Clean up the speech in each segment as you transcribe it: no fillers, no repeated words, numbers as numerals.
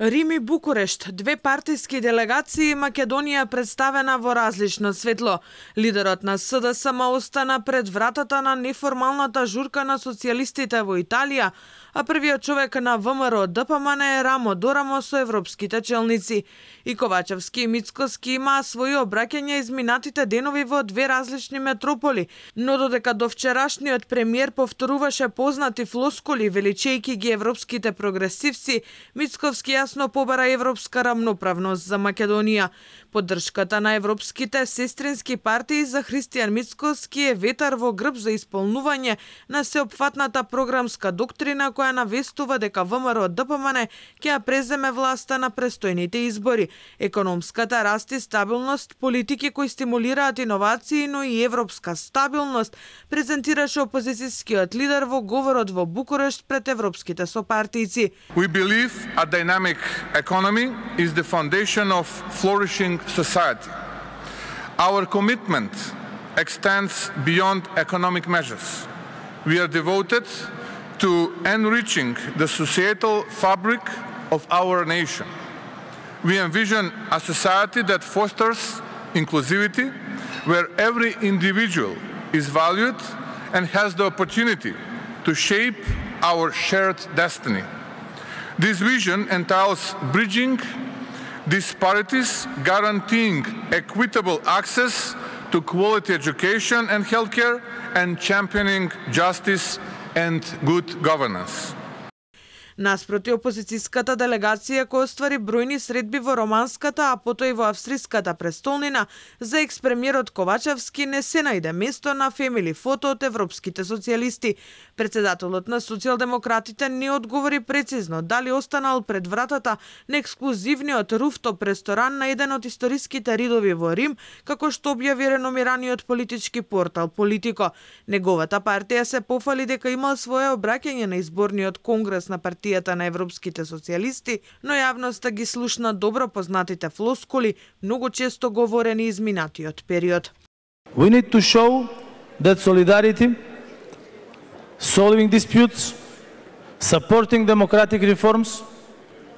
Рим и Букурешт, две партиски делегации, Македонија представена во различно светло. Лидерот на СДСМ остана пред вратата на неформалната журка на социјалистите во Италија, а првиот човек на ВМРО ДПМН е рамо до рамо со европските челници. И Ковачевски и Мицкоски имаа своји обраќања изминатите денови во две различни метрополи, но додека до вчерашниот премиер повторуваше познати флоскули величејки ги европските прогресивци, Мицковски јасно побара европска рамноправност за Македонија. Поддршката на европските сестрински партии за Христијан Мицковски е ветар во грб за исполнување на сеопфатната програмска доктрина која навестува дека ВМРО ДПМН ќе ја преземе власта на престојните избори. Економската раст и стабилност, политики кои стимулираат иновации, но и европска стабилност, презентираше опозицијскиот лидер во говорот во Букурешт пред европските сопартијци. We believe a dynamic economy is the foundation of flourishing society. Our commitment extends beyond economic measures. We are devoted to enriching the societal fabric of our nation. We envision a society that fosters inclusivity, where every individual is valued and has the opportunity to shape our shared destiny. This vision entails bridging disparities, guaranteeing equitable access to quality education and healthcare, and championing justice and good governance. Наспроти опозицијската делегација која оствари бројни средби во романската, а потоа и во австриската престолнина, за екс-премиерот Ковачевски не се најде место на фемили фото од европските социјалисти. Председателот на социјалдемократите не одговори прецизно дали останал пред вратата на ексклузивниот руфтоп ресторан на еден од историските ридови во Рим, како што објави реномираниот политички портал Политико. Неговата партија се пофали дека имал свое обраќање на изборниот конгрес на партијата на европските социјалисти, но јавноста ги слушна добро познатите флоскули, многу често говорени изминатиот период. We need to show that solidarity, solving disputes, supporting democratic reforms,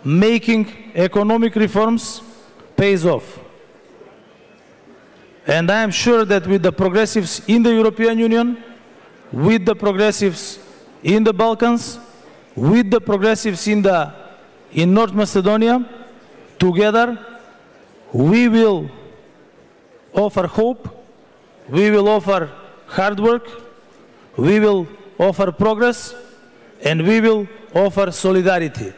making economic reforms pays off. And I am sure that with the progressives in the European Union, with the progressives in the Balkans, with the progressives in North Macedonia, together we will offer hope, we will offer hard work, we will offer progress, and we will offer solidarity.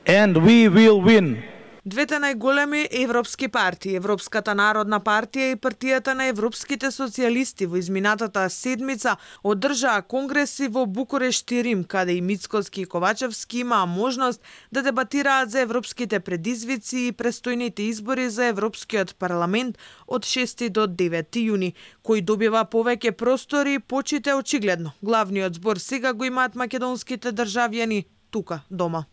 And we will win. Двете најголеми европски партии, Европската народна партија и партијата на европските социјалисти во изминатата седмица одржаа конгреси во Букурешт и Рим, каде и Мицкоски и Ковачевски имаа можност да дебатираат за европските предизвици и престојните избори за Европскиот парламент од 6 до 9 јуни, кој добива повеќе простори и почите очигледно. Главниот збор сега го имаат македонските државјани тука дома.